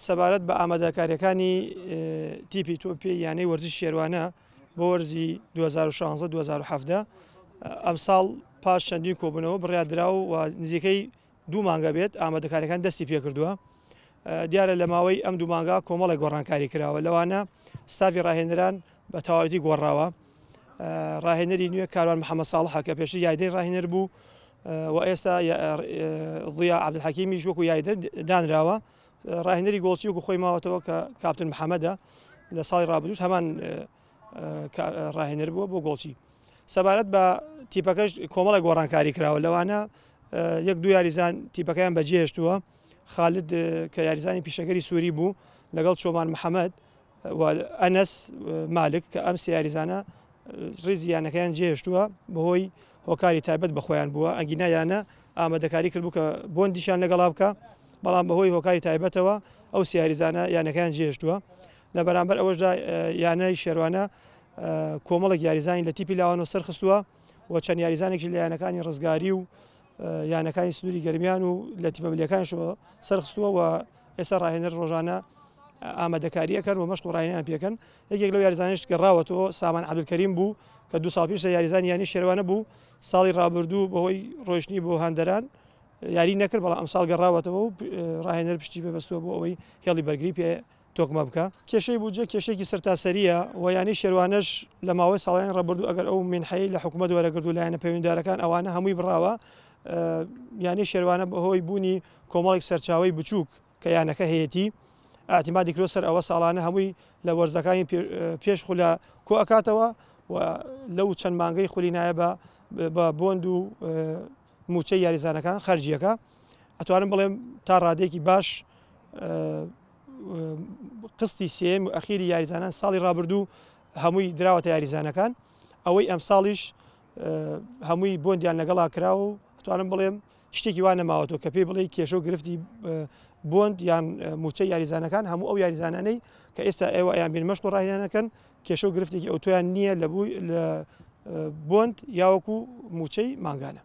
سەبارەت بە ئامادەکاریەکانی تیپی تۆپی یانەی وەرزش شێروانە بۆ وەرزی 2016 2017 ئەمساڵ پاش چەندین کۆبوونەوە بڕیاردرا و نزیکەی دوو مانگە بێت ئامادەکاریەکان دەستی پێکردووە. دیارە لە ماوەی ئەم دوو مانگا کۆمەڵێک گۆڕانکاری کراوە، لەوانە ستافی ڕاهێنەران بە تەواوەتی گۆڕاوە. ڕاهێنەری نوێ کاروان محەممەد ساڵحە کە پێشتر یاریدەی ڕاهێنەر بوو و ئێستا ضیا عەبدولحەکیمیش وەکو یاریدە دانراوە. ڕاهێنەری گۆڵچی وەکو خۆی ماوەتەوە کە کاپتن محەممەدە، لە ساڵی ڕابردووش هەمان ڕاهێنەر بووە بۆ گۆڵچی. سەبارەت بە تیپەکەش کۆمەڵێک گۆڕانکاری کراوە، لەوانە یەک دوو یاریزان تیپەکەیان بەجێهێشتووە. خالد کە یاریزانی پیشەگەری سووری بوو لەگەڵ چۆمان محەممەد و ئەنەس مالک کە ئەم سێ یاریزانە ڕیزی یانەکەیان جێهێشتووە بەهۆی هۆکاری تایبەت بە خۆیان بووە. ئەگینا یانە ئامادەکاری کردبوو کە بۆندیشیان لەگەڵا بکە، بەڵام بەهۆی هۆکاری تایبەتەوە ئەو سێ یاریزانە یانەکەیان جێهێشتووە. لە بەرامبەر ئەوەشدا یانەی شێروانە کۆمەڵێک یاریزانی لە تیپی لاوانەوە سەرخستووە و چەند یاریزانێکی لە یانەکانی ڕزگاری و یانەکانی سنووری گەرمیان و لە تیپە ملیەکانیشەوە سەرخستووە و ئێستا ڕاهێنەر ڕۆژانە ئامادەکاریەکەن و مەشق و ڕاهێنان پێکەن. یەکێک لەو یاریزانانیش گەڕاوەتەوە سامان عەبدولکەریم بوو کە دوو ساڵ پێش یاریزانی یانەی شێروانە بوو، ساڵی ڕابردوو بەهۆی ڕۆیشتنی بۆ هەندەران یاری نەکرد، بەڵام ئەمساڵ گەڕاوەتەوە و ڕاهێنەر پشتی پێبەستووە بۆ ئەوەی هێڵی بەرگری پێ تۆکمە بکە. کێشەی بودجە کێشەیەکی سەرتاسەرییە و یانەی شێروانەش لە ماوەی ساڵانی ڕابردوو ئەگەر ئەو مینحەی لە حکوومەت وەرەگرت و لایەنە پەیوەندیدارەکان ئەوانە هەمووی بڕاوە، یانەی شێروانە بەهۆی بوونی کۆمەڵێک سەرچاوەی بچووک کە یانەکە هەیەتی ئاعتیمادی کردووە سەر ئەوە ساڵانە هەمووی لە وەرزەکانی پێش خولە کۆ ئەکاتەوە و لەو چەند مانگەی خولی نایە بە بۆند و مووچەی یاریزانەکان خەرجیەکە ئەتوانم بڵێم تا ڕادەیەکی باش قستی سێم و ئەخیری یاریزانان ساڵی ڕابردوو هەمووی دراوەتە یاریزانەکان، ئەوەی ئەمساڵیش هەمووی بۆندیان لەگەڵا کراوە و ئەتوانم بڵێم شتێکی وا نەماوەتەوە کە پێی بڵێ کێشە و گرفتی بۆند یان موچەی یاریزانەکان. هەموو ئەو یاریزانانەی کە ئێستا ئێوە ئەیان بین مەشق و ڕاهێنانەکەن کێشە و گرفتێکی ئەوتۆیان نییە لە بووی لە بۆند یاوەکو موچەی مانگانە.